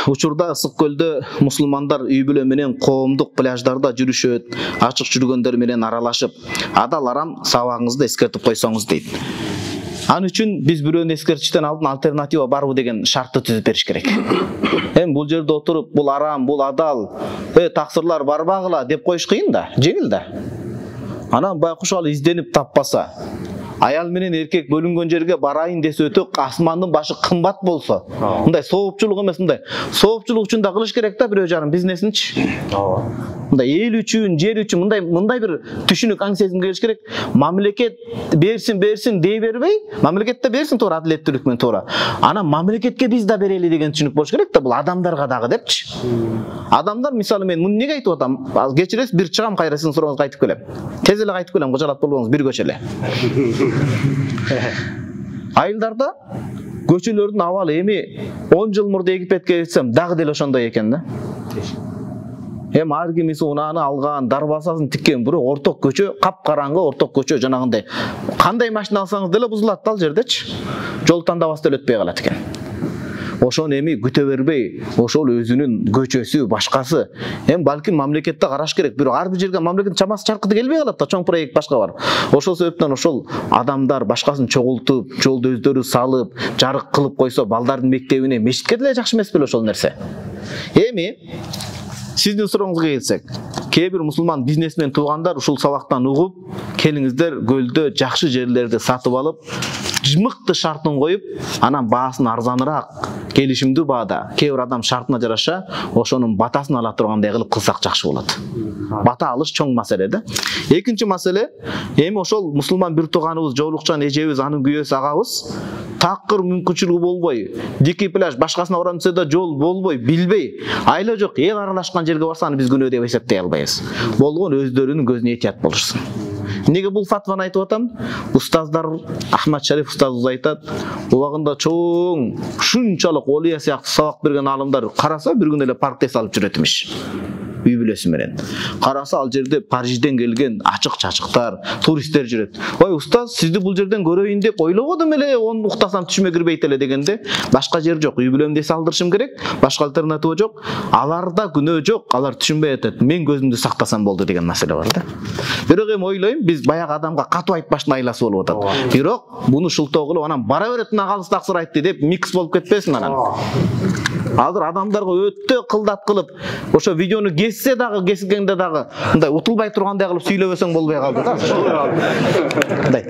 Учурда Ысык көлдө мусулмандар үй бүлө менен коомдук пляждарда жүрүшөт, ачык жүргөндөр менен аралашып, адал арам сабагыңызды эскертип койсоңуз дейт. Аны үчүн биз бирөөнү эскертиштен алдын альтернатива барбы деген шартты түзүп бериш керек. Бул жерде отуруп, бул арам, бул адал, таксырлар барбагыла деп коюш кыйын да, жеңил да. Анан байкуш ал изденип таппаса, аял менен эркек бөлүнгөн жерге барайын десе өтөк асмандын башы кымбат болсо, мындай соопчулук эмес, мындай соопчулук үчүн да кылыш керек да бирөө жарым бизнесинчи. Мындай эл үчүн, жер үчүн мындай бир түшүнүк аң сезим келиш керек. Мамлекет берсин дей бербей, мамлекет да берсин туура адилеттүүлүк менен туура. Анан мамлекетке биз да берели деген түшүнүк болуш керек да, бул адамдарга дагы депчи. Адамдар мисалы мен муну неге айтып атам? Кечиресиз, бир чыгам кайра сиздин сурооңузга кайтып келем. Тез эле кайтып келем, кожалат болбоңуз, бир көчө эле. Айылдарда көчөлөрдүн абалы эми 10 жыл мурда Египетке кетсем дагы деле ошондой экен да. Ар кимиси унааны алган, дарбазасын тиккен, бирок орток көчө, капкараңгы орток көчө, жанагындай кандай машина алсаңыз деле бузулат ал жердечи. Жол тандабасты эле өтпөй калат экен. Ошону эми күтө бербей, ошол өзүнүн көчөсү, башкасы. Балким мамлекетте караш керек. Бирок ар бир жерге мамлекеттин чамасы чаркыты келбей калат да, чоң проект башка бар. Ошол себептен ошол адамдар башкасын чогултуп, жолду өздөрү салып, жарык кылып койсо, балдардын мектебине, мечитке деле жакшы эмес беле ошол нерсе. Эми сиздин сурооңузга келсек, кээ бир мусулман бизнесмен туугандар ушул сабактан угуп, келиңиздер көлдө жакшы жерлерди сатып алып, мыкты шартын коюп, анан баасын арзаныраак, келишимдүү баада, кээ бир адам шартына жараша ошонун батасын ала тургандай кылып кылсак жакшы болот. Бата алыш чоң маселе да. Экинчи маселе, эми ошол мусулман бир тууганыбыз, жоолукчан эжебиз, анын күйөөсү агабыз такыр мүмкүнчүлүгү болбой, дикий пляж башкасына барам десе да жол болбой, билбей, айла жок эл аралашкан жерге барса аны биз күнөө деп эсептей албайбыз. Болгон өздөрүнүн көзүнө этият болушсун. Неге бул фатваны айтып атам? Устаздар, Ахмад Шариф устазыбыз айтат, убагында чоң, ушунчалык Олия сыяктуу сабак берген алымдар караса бир күн эле паркте салып жүрөт эмиш. Үй бүлөсү менен. Караса ал жерде Парижден келген ачык чачыктар, туристтер жүрөт. Ой, устаз, сизди бул жерден көрөйүн деп ойлободум эле, оны уктасам түшүмө кирбейт эле дегенде, башка жер жок. Үй бүлөмдү салдырышым керек, башка альтернатива жок. Аларда күнөө жок, алар түшүнбөй атат. Мен көзүмдү сактасам болду деген маселе бар да. Бирок эми ойлойм, биз баягы адамга катуу айтпаштын айласы болуп атат. Бирок буну шылтоо кылып, анан бара берет мына калыс таксыр айтты деп микс болуп кетпесин анан. Азыр адамдарга өтө кылдат кылып, ошо видеону кессе дагы, кесилгенде дагы мындай утулбай тургандай кылып сүйлөбөсөң болбой калды да. Мындай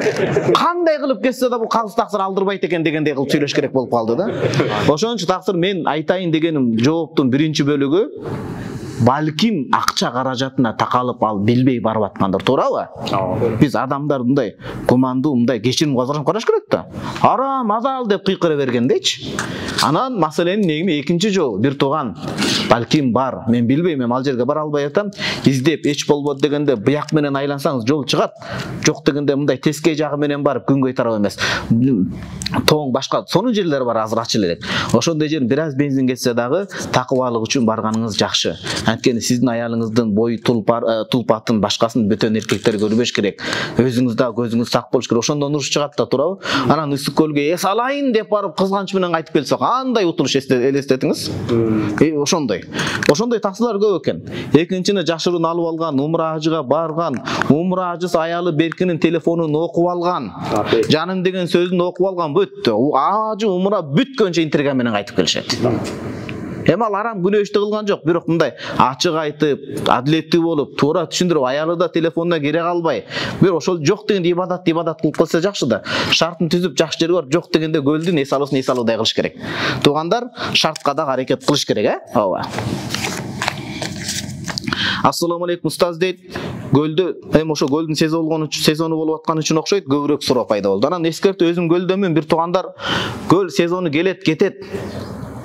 кандай кылып кессе да бул калыс таксыр алдырбайт экен дегендей кылып сүйлөш керек болуп калды да. Ошон үчүн таксыр мен айтайын дегеним жооптун биринчи бөлүгү балким акча каражатына такалып ал билбей барып аткандар, туурабы? Биз адамдар мындай кумандуу, мындай кечирим казарып караш керек да. Арам, адал деп кыйкыра бергендечи. Анан маселенин негими экинчи жол, бир тууган балким бар, мен билбейм, мен ал жерге бара албай атам, издеп эч болбойт дегенде бияк менен айлансаңыз жол чыгат. Жок дегенде мындай тескей жагы менен барып күнгөй тарап эмес. Тоң башка сонун жерлер бар, азыр ачыл элек. Ошондой жер бир аз бензин кетсе дагы такыбалык үчүн барганыңыз жакшы. Анткени сиздин аялыңыздын бой тулпатын башкасын бөтөн эркектер көрбөш керек. Өзүңүз да көзүңүз сак болуш керек. Ошондон уруш чыгат да, туурабы? Анан Ысык көлгө эс алайын деп барып кызганыч менен кайтып келсе, кандай утулуш элестетиңиз? Ошондой таксылар көп экен. Экинчини жашыруун алып алган, умра ажыга барган, умра ажысы аялы беркинин телефонун окуп алган, жаным деген сөзүн окуп алган, бүттү. Ажы умра бүткөнчө интернет менен кайтып келишет. Ал арам күнөө ишти кылган жок, бирок мындай ачык айтып, адилеттүү болуп, туура түшүндүрүп, аялы да телефонуна кире калбай, бир ошол жок дегенде ибадат кылып калса жакшы да. Шартын түзүп жакшы жерге барып, жок дегенде көлдүн эс алуудай кылыш керек. Туугандар, шартка да аракет кылыш керек, ооба. Ассаламу алейкум устаз дейт. Көлдө ошо көлдүн сезону болуп аткан үчүн окшойт, көбүрөөк суроо пайда болду. Анан эскертүү, өзүм көлдөмүн, бир туугандар көл сезону келет, кетет.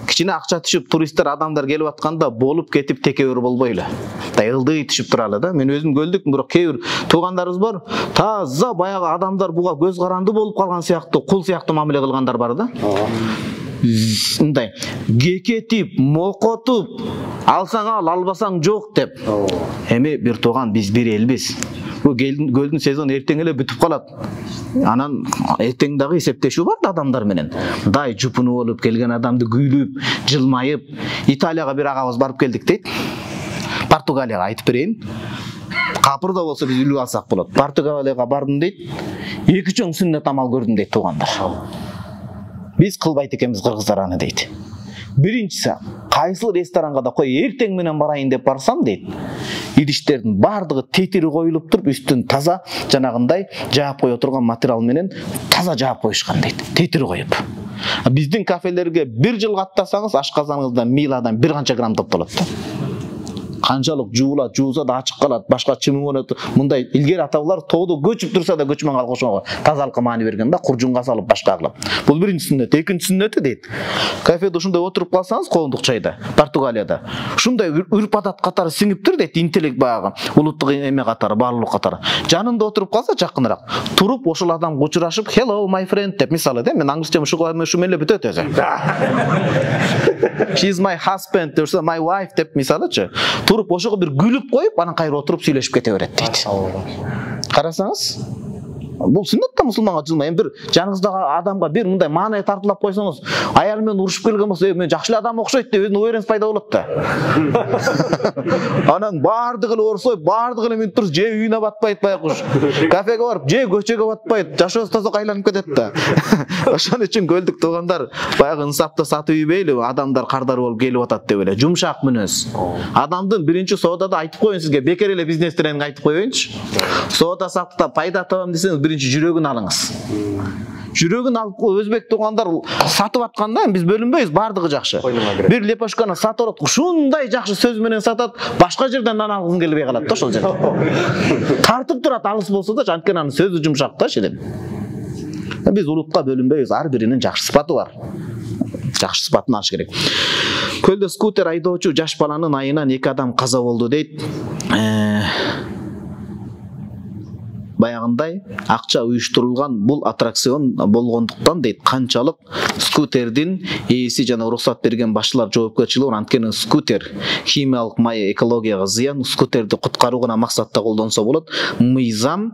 Кичине акча түшүп, туристтер, адамдар келип атканда болуп кетип текебер болбойлу. Ылдый түшүп туралы да. Мен өзүм көлдүкмүн, бирок кээ бир туугандарыбыз бар, таза баягы адамдар буга көз каранды болуп калган сыяктуу, кул сыяктуу мамиле кылгандар бар да. Мындай кекетип, мокотуп, алсаң ал, албасаң жок деп. Эми бир тууган, биз бир элбиз. көлдүн сезону эртең эле бүтүп калат. Анан эртең дагы эсептешүү бар да адамдар менен. Дай жупунуп болуп келген адамды күйлүп, жылмайып, Италияга бир агабыз барып келдик дейт. Португалияга айтып берейин. Капыр да болсо биз үлүп алсак болот. Португалияга бардым дейт. 2 чоң сүннөт амал көрдүм дейт туугандар. Биз кылбайт экенбиз кыргыздар аны дейт. Биринчиси, кайсыл ресторанга да кой эртең менен барайын деп барсам дейт. Идиштердин бардыгы тетири коюлуп туруп, үстүн таза жанагындай жаап кое турган материал менен таза жаап коюшкан дейт. Тетири коюп. Биздин кафелерге 1 жыл каттасаңыз ашказаныңызда миладан 1 канча грамм топтолот да. Канчалык жуулат, жууса да ачык калат, башка чымыгынат. Мындай илгери аталар тоодо көчүп турса да көчмөн калгышого тазалыкка маани берген да, куржунга салып башка кылып. Бул биринчи сүннөт, экинчи сүннөтү дейт. Кафеде ушундай отуруп калсаңыз, коомдук чайда, Португалияда, ушундай үрп адат катары сиңиптир дейт, интеллект багы, улуттук эме катары, баалуулук катары. Жанында отуруп калса жакыныраак, туруп ошол адамга учурашып, "Hello my friend" деп, мисалы да, мен англисча ушуга эле бүтөт өзү. She's my husband деп, my wife деп мисалычы. Туруп ошого бир күлүп коюп, анан кайра отуруп сүйлөшүп кете берет дейт. Карасаңыз, бул сүннөт да мусулманга жылмай. Бир жаныңыздагы адамга бир мындай маанай тартылап койсоңуз, аялы менен урушуп келген болсо, мен жакшы эле адам окшойт деп өзүнүн уверенность пайда болот да. Анан бардыгы эле орсойп, бардыгы эле минут туруп, же үйүнө батпайт байкуш. Кафеге барып, же көчөгө батпайт, жашоосу тозок айланып кетет да. Ошон үчүн көлдүк туугандар, баягы инсапты сатып ийбейли, адамдар кардар болуп келип атат деп эле. Жумшак мүнөз. Адамдын биринчи соодада айтып коюн сизге, бекер эле бизнес тренинг айтып коеюнчу. Соода сатыкта пайда табам десеңиз, биринчи жүрөгүн алыңыз. Жүрөгүн алып өзбек туугандар сатып атканда биз бөлүнбөйбүз, бардыгы жакшы. Бир лепошканы сатып алат, ушундай жакшы сөз менен сатат, башка жерден нан алгың келбей калат да ошол жерде. Тартып турат алыс болсо да, анткени анын сөзү жумшак да ширин. Биз улутка бөлүнбөйбүз, ар биринин жакшы сыпаты бар. Жакшы сыпатын алыш керек. Көлдө скутер айдоочу жаш баланын айынан 2 адам каза болду дейт. Баягындай акча уюштурулган бул аттракцион болгондуктан дейт, канчалык скутердин ээси жана уруксат берген башчылар жоопкерчилиги бар. Анткени скутер химиялык май экологияга зыян, скутерди куткаруу гана максатта колдонсо болот, мыйзам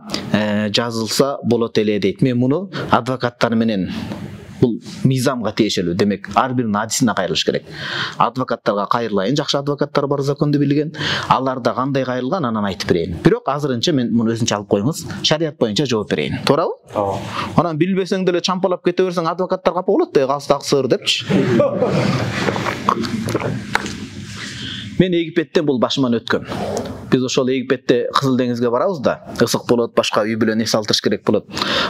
жазылса болот эле дейт. Мен муну адвокаттар менен, бул мыйзамга тиешелүү, демек ар биринин адисине кайрылыш керек. Адвокаттарга кайрылайын, жакшы адвокаттар бар, законду билген. Аларда кандай кайрылган, анан айтып берейин. Бирок азырынча мен муну өзүнчө алып коюңуз, шарият боюнча жооп берейин. Туурабы? Ооба. Анан билбесең деле чампалап кете берсең, адвокаттар капа болот да, калстак сыр депчи. Мен Египеттен бул башыман өткөн. Биз ошол Египетте Кызыл деңизге барабыз да, ысык болот, башка үй бүлө нерсе алтырыш керек болот.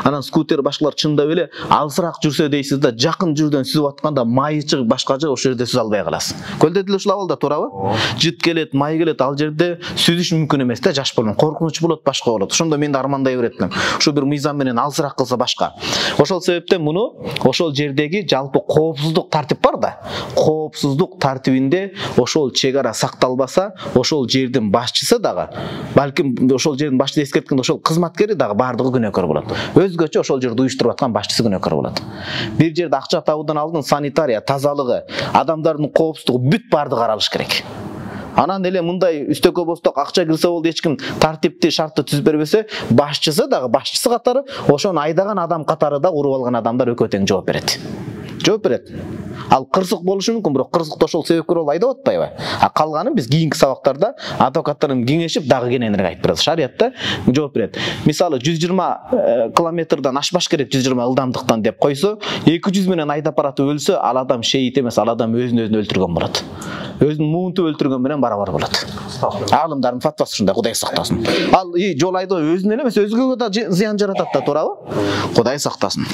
Анан скутер башкалар чындап эле алысыраак жүрсө дейсиз да, жакын жүрдөн сүзүп атканда майы чыгып башка жер, ошол жерде сүзө албай каласыз. Көлдө деле ушул абалда, туурабы? Жыт келет, май келет, ал жерде сүзүш мүмкүн эмес да, жаш балам. Коркунуч болот, башка болот. Ошондо мен да армандай беретмин. Ушу бир мыйзам менен алысыраак кылса башка. Ошол себептен муну ошол жердеги жалпы коопсуздук тартип бар да. Коопсуздук тартибинде ошол чек ара сакталбаса, ошол жердин башчысы дагы, балким ошол жердин башчысы эскерткенде ошол кызматкери дагы бардыгы күнөөкөр болот. Өзгөчө ошол жерди уюштуруп аткан башчысы күнөөкөр болот. Бир жерде акча табуудан алдын санитария, тазалыгы, адамдардын коопсуздугу бүт бардыгы каралыш керек. Анан эле мындай үстөккө босток акча кирсе болду, эч ким тартипти, шартты түзүп бербесе, башчысы дагы башчысы катары, ошону айдаган адам катары да уруп алган адамдар экөө тең жооп берет. Жооп берет. Ал кырсык болушу мүмкүн, бирок кырсыкты ошол себепкер болуп айдап атпайбы? А калганын биз кийинки сабактарда адвокаттар менен кеңешип дагы кененирээк айтып беребиз. Шариятта жооп берет. Мисалы 120 километрден ашпаш керек, 120 ылдамдыктан деп койсо, 200 менен айдап баратып өлсө, ал адам шейит эмес, ал адам өзүн өлтүргөн болот. Өзүн муунтуп өлтүргөн менен барабар болот. Алымдардын фатвасы ушундай, Кудай сактасын. Ал жол айдоо өзүнө эле эмес, өзгөгө да зыян жаратат да, туурабы? Кудай сактасын.